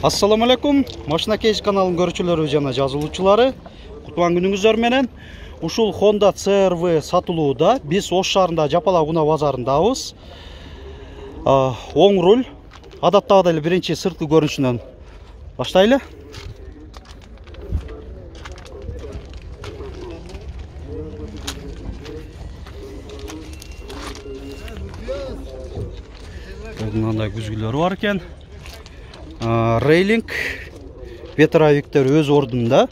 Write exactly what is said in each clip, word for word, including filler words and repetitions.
Assalamu alaikum. Машина кейс каналын көрүүчүлөрү жана жазылуучулары. Кутлуган күнүңүздөр менен. Ушул Honda C R V сатылууда. Биз Ош шаарында Жапалак унаа базарындабыз. Оң руль. Адаттагыдай эле биринчи сырткы көрүнүшүнөн баштайлы. Мындай күзгүлөрү бар экен. Рейлинг ветровиктер өз ордунда.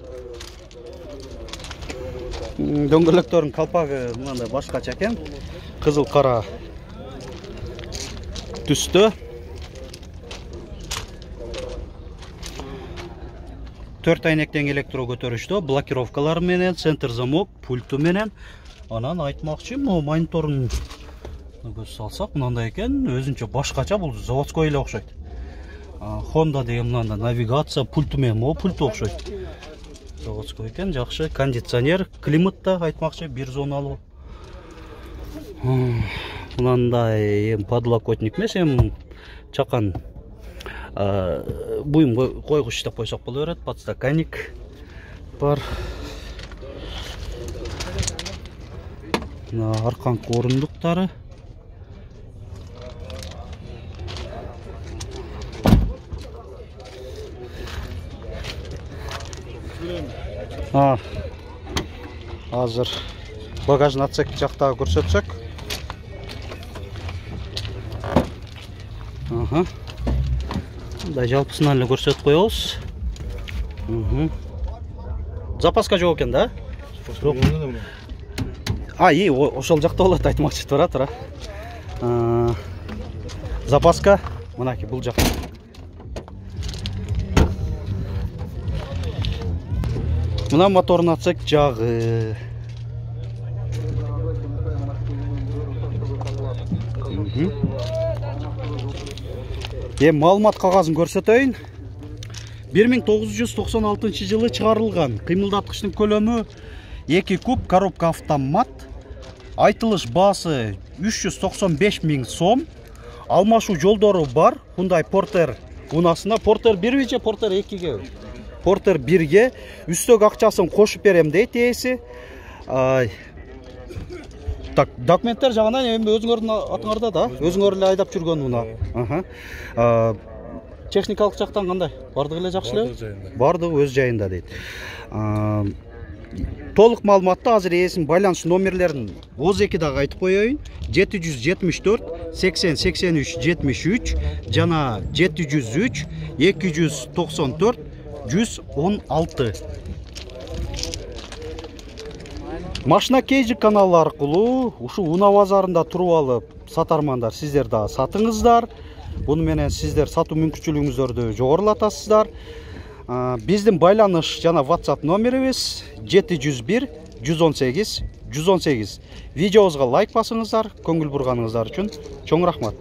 Дөңгөлөктөрдүн калпагы мындай башкача экен. Кызыл кара түстө. төрт айнектен электро көтөрүштө, блокировкалар менен, центр замок, пульту менен. Анан айтмакчы, могу мониторун көз салсак, мындай экен, өзүнчө башкача, бул заводской эле окшойт. Honda деген мындай навигация пульту менен, могу пульту окшойт. Заводской экен, жакшы, кондиционер, климатта айтмакчы, бир зоналуу. Мындай эм подлокотник эмес, эм чакан буюм койгуч деп койсок боло берет, подстаканник бар. Мына арканкы орундуктары. А, азыр багажный отсек жактагы көрсөтсөк. Ага. Да, жалпысынан эле көрсөтүп коебуз. Запаска жок экен да? А, и, ошол жакта болот, айтмакчы тура тура. Запаска мынакей бул жакта. Мына моторный отсек жагы. Эми маалымат кагазын көрсөтөйүн. бир миң тогуз жүз токсон алтынчы жылы чыгарылган. Кыймылдаткычтын көлөмү эки куб, коробка автомат. Айтылыш баасы үч жүз токсон беш миң сом. Алмашуу жолдору бар. Hyundai Porter унаасына. Porter бирби же Porter экиге? Porter бирге. Үстөк акчасын кошуп берем дейт ээси. Так, документтер жагынан эми өзүңөрдүн атыңарда да, өзүңөр эле айдап жүргөн унаа. Аха. Техникалык жактан кандай? Бардыгы эле жакшы эле? Бардыгы өз жайында дейт. Толук маалыматты азыр ээсинин байланыш номерлерин отуз экидагы айтып коеюн. жети жүз жетимиш төрт сексен сексен үч жетимиш үч жана жети жүз үч эки жүз токсон төрт жүз он алты. Машина кейжи каналы аркылуу ушул унаа базарында туруп алып сатармандар сиздер да сатыңыздар. Буну менен сиздер сатуу мүмкүнчүлүгүңүздөрдү жогорулатасыздар. Биздин байланыш жана WhatsApp номерибиз жети жүз бир жүз он сегиз жүз он сегиз. Видеобузга лайк басыңыздар, көңүл бурганыңыздар үчүн чоң рахмат.